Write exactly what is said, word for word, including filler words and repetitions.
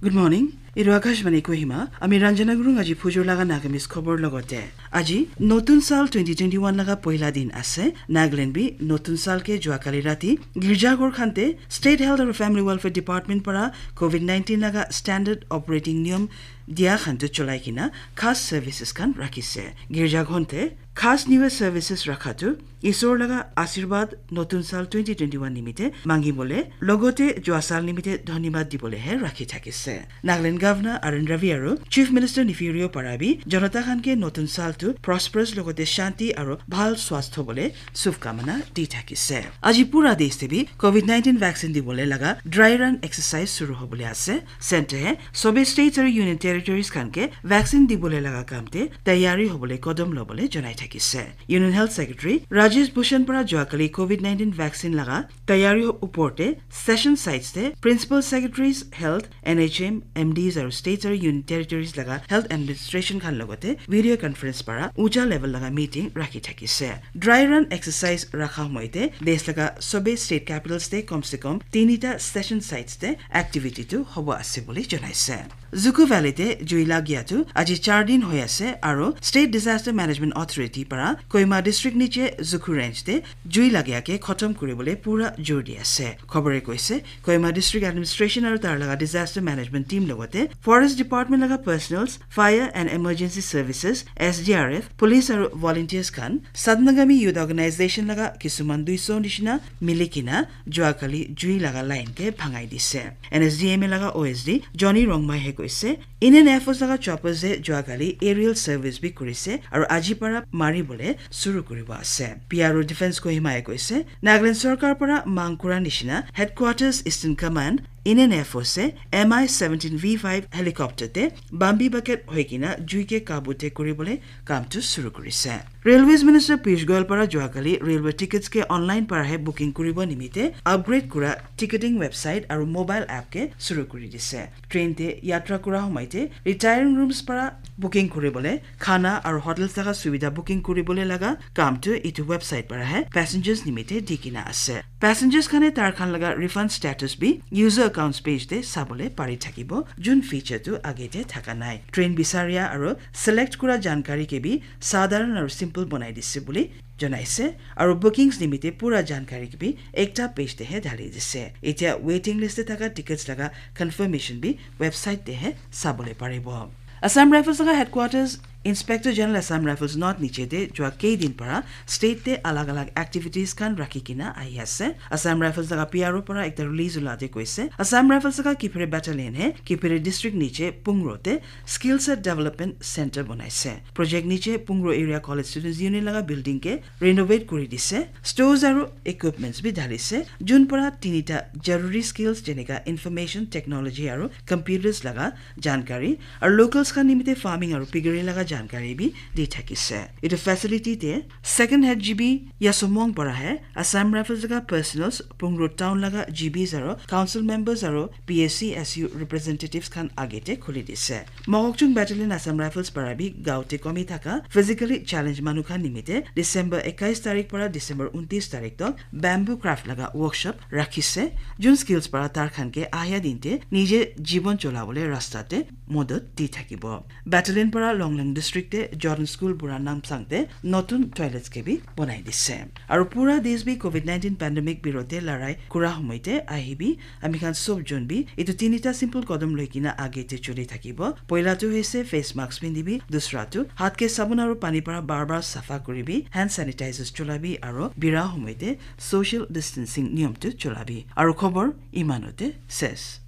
Good morning. Etu Akashvani Kohima. Ami Ranjana Gurung aji phujur laga Nagamese khobor logote. Aji Notun Sal twenty twenty-one laga poila din ase. Nagaland bi Notun Sal ke jua kali rati girja ghor khante State Health and Family Welfare Department para covid nineteen laga standard operating niyom dia khan tu cholai kina khas services khan rakhise. Girja ghonte khas niwe services rakha tu Isor laga asirwad Notun Sal twenty twenty-one nimite mangi bole logote jua sal nimite dhonibad dibole he rakhi thakise. Nagaland Governor Arun Ravi aru Chief Minister Neiphiu Rio para bi jonata khan ke Notun Sal tu prosperous logote shanti aru bhal swastho bole shubkamana di thakise. Aji pura desh te bi covid nineteen vaccine dibole laga dry run exercise shuru hobole ase. Center he sobe states aru union territories khan ke vaccine dibole laga kam te tayari hobole kodom lobole janai thakise. Union Health Secretary Rajesh Bhushan para jua kali covid nineteen vaccine laga tayari upor te session sites te Principal Secretaries Health, N H M, M Ds aru states aru union territories laga health administration khan logote video conference para ucha level laga meeting rakhi thakise. Dry run exercise rakha homoite desh laga sobe state capitals te kom se kom tinita session sites te activity tu hobo ase bole janaise. Zuku Valley te jui lagia tu aji char din hoi ase aru State Disaster Management Authority para Kohima District niche Zuku Range te jui lagia ke khotom kuribole pura jor di ase. Khobore koise Kohima District Administration aru tar laga Disaster Management Team logote Forest Department laga personnels, Fire and Emergency Services, S D R F, police aru volunteers khan Satnagami Youth Organization laga kisuman duiso nishina mili kina jua kali jui laga line ke bhangai dise. N S D M A laga O S D Johnny Rongmai he koise Indian Air Force laga choppers e jua kali aerial service bi kurise aru aji para mari bole shuru kuribo ase. P R O Defense Kohima e koise Nagaland Sorkar para mang kura nishina Headquarters Eastern Command Indian Air Force e M I seventeen V five helicopter te Bambi bucket hoi kina jui ke kabu te kuribole kam tu shuru kurise. Railways Minister Piyush Goyal para jua kali railway tickets ke online para he booking kuribo nimite upgrade kura ticketing website aru mobile app ke shuru kuri dise. Train te yatra kura homoite retiring rooms para booking kuribole khana aru hotels laga subida booking kuribole laga kam tu itu website para he passengers nimite di kina ase. Passengers khane tar khan laga refund status bi user accounts page te sabole pari thakibo, jun feature tu age te thaka nai. Train bisaria aru select kura jankari ke bi sadharan aru simple bonai dise bole janaise aru bookings nimite pura jankari ke bi ekta page te he dhali dise. Etia waiting list te thaka tickets laga confirmation bi website te he sabole paribo. Assam Rifles laga headquarters Inspector General Assam Rifles North niche te jua kei din para state te alag alag activities khan rakhi kina ahi ase. Assam Rifles laga P R O para ekta release ulate koise Assam Rifles laga Kiphire battalion he Kiphire district niche Pungro te skill set development center bonaise. Project niche Pungro Area College Students Union laga building ke renovate kuri dise. Stores aru equipments bi dhalise. Jun para tinita jaruri skills jeneka information technology aru computers laga jankari aru locals khan nimite farming aru piggery laga jankari bi di thakise. Itu facility te second head G B Yasomong para he Assam Rifles laga personnels Pungro town laga G Bs aru council members aru P S C S U representatives khan age te khuli dise. Mokokchung Battalion Assam Rifles para bi gaote komi thaka physically challenge manu khan nimite December ekais tarik para December untis tarik tok bamboo craft laga workshop rakhise. Jun skills para tar khan ke ahya din te nije jibon cholabole rasta te modot di thakibo. Battalion para Longleng district te Jordan School bura Namsang te notun toilets ke bi bonai dise. Aru pura desh bi covid nineteen pandemic birote larai kura homoite ahibi ami khan sob jun bi itu tinita simple kodom loi kina age te chuli thakibo. Poila tu hoise face mask pindibi, dusra tu hat ke sabun aru pani para bar bar safa kuribi, hand sanitizers chulabi aru bira homoite social distancing niyom tu chulabi. Aru khobor imanote ses.